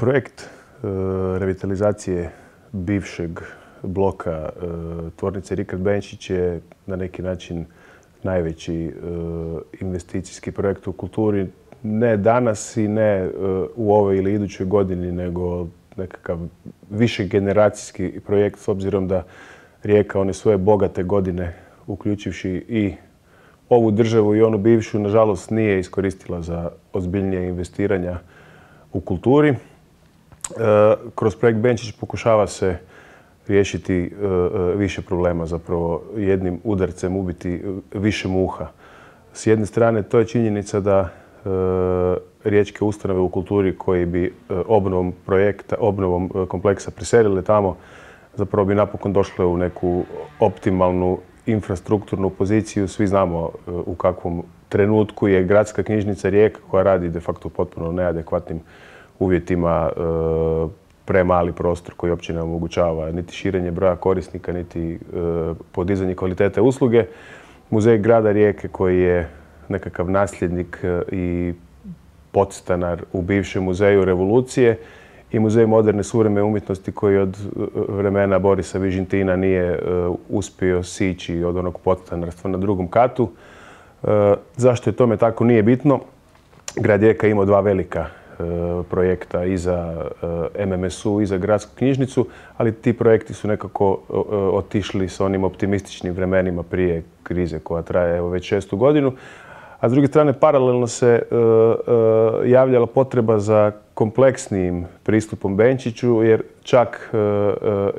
Projekt revitalizacije bivšeg bloka tvornice Rikard Benčić je na neki način najveći investicijski projekt u kulturi. Ne danas i ne u ovoj ili idućoj godini, nego nekakav višegeneracijski projekt s obzirom da Rijeka one svoje bogate godine, uključivši i ovu državu i onu bivšu, nažalost nije iskoristila za ozbiljnije investiranja u kulturi. Kroz projekt Benčić pokušava se riješiti više problema, zapravo jednim udarcem ubiti više muha. S jedne strane to je činjenica da riječke ustanove u kulturi koji bi obnovom kompleksa preselile tamo, zapravo bi napokon došle u neku optimalnu infrastrukturnu poziciju. Svi znamo u kakvom trenutku je gradska knjižnica Rijeka, koja radi de facto u potpuno neadekvatnim uvjetima, premali prostor koji uopće ne omogućava niti širenje broja korisnika, niti podizanje kvalitete usluge. Muzej grada Rijeke koji je nekakav nasljednik i podstanar u bivšem muzeju revolucije i muzej moderne suvremene umjetnosti koji od vremena Borisa Vižintina nije uspio sići od onog podstanarstva na drugom katu. Zašto je tome tako nije bitno. Grad Rijeka imao dva velika projekta i za MMSU i za gradsku knjižnicu, ali ti projekti su nekako otišli s onim optimističnim vremenima prije krize koja traje evo već 6. godinu. A s druge strane, paralelno se javljala potreba za kompleksnijim pristupom Benčiću, jer čak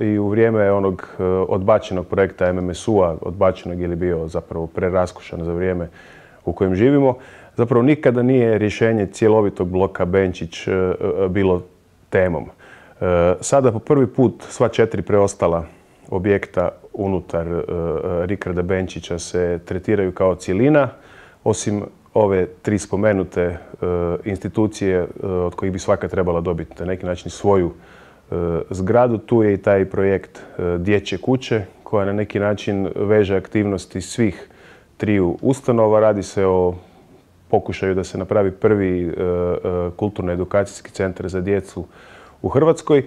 i u vrijeme onog odbačenog projekta MMSU-a, odbačenog ili bio zapravo preraskušan za vrijeme u kojem živimo, zapravo nikada nije rješenje cjelovitog bloka Benčić bilo temom. Sada po prvi put sva 4 preostala objekta unutar Rikarda Benčića se tretiraju kao cjelina, osim ove 3 spomenute institucije od kojih bi svaka trebala dobiti na neki način svoju zgradu. Tu je i taj projekt Dječje kuće koja na neki način veže aktivnosti svih 3 ustanova. Radi se o pokušaju da se napravi prvi kulturno-edukacijski centar za djecu u Hrvatskoj.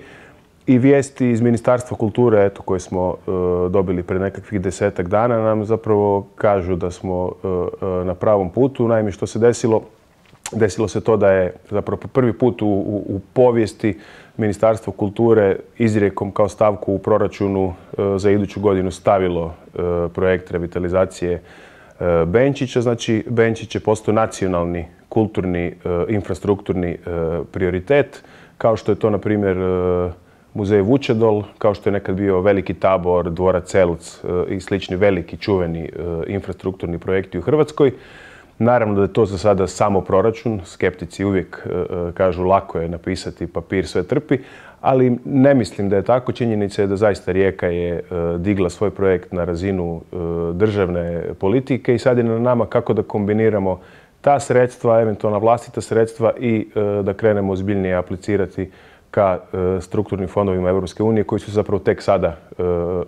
I vijesti iz Ministarstva kulture koje smo dobili pred nekakvih 10-ak dana nam zapravo kažu da smo na pravom putu. Naime, što se desilo? Desilo se to da je zapravo po prvi put u povijesti Ministarstvo kulture izrijekom kao stavku u proračunu za iduću godinu stavilo projekt revitalizacije Benčića. Znači, Benčić je postao nacionalni, kulturni, infrastrukturni prioritet, kao što je to, na primjer, Muzej Vučedol, kao što je nekad bio Veliki Tabor, Dvorac Eltz i slični veliki, čuveni infrastrukturni projekti u Hrvatskoj. Naravno da je to za sada samo proračun. Skeptici uvijek kažu lako je napisati, papir sve trpi, ali ne mislim da je tako. Činjenica je da zaista Rijeka je digla svoj projekt na razinu državne politike i sad je na nama kako da kombiniramo ta sredstva, eventualna vlastita sredstva i da krenemo ozbiljnije aplicirati ka strukturnim fondovima Europske unije koji su zapravo tek sada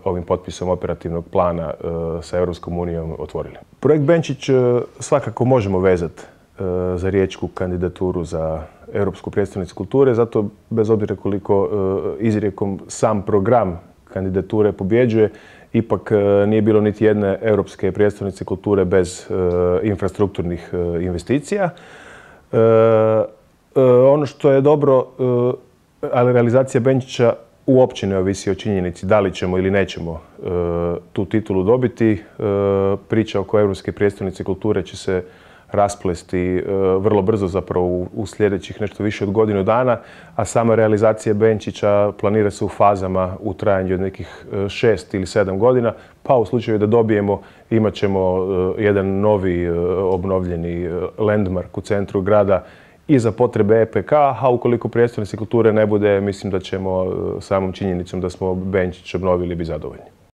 ovim potpisom operativnog plana sa Europskom unijom otvorili. Projekt Benčić svakako možemo vezati za riječku kandidaturu za Europsku prijestolnicu kulture, zato bez obzira koliko izrijekom sam program kandidature pobjeđuje, ipak nije bilo niti jedne Europske prijestolnice kulture bez infrastrukturnih investicija. Ono što je dobro, ali realizacija Benčića uopće ne ovisi o činjenici da li ćemo ili nećemo tu titulu dobiti. Priča oko Europske prijestolnice kulture će se rasplesti vrlo brzo, zapravo u sljedećih nešto više od godinu dana, a sama realizacija Benčića planira se u fazama u trajanju od nekih 6 ili 7 godina, pa u slučaju da dobijemo imat ćemo jedan novi obnovljeni landmark u centru grada i za potrebe EPK, a ukoliko prijestolnice kulture ne bude, mislim da ćemo samom činjenicom da smo Benčić obnovili biti zadovoljni.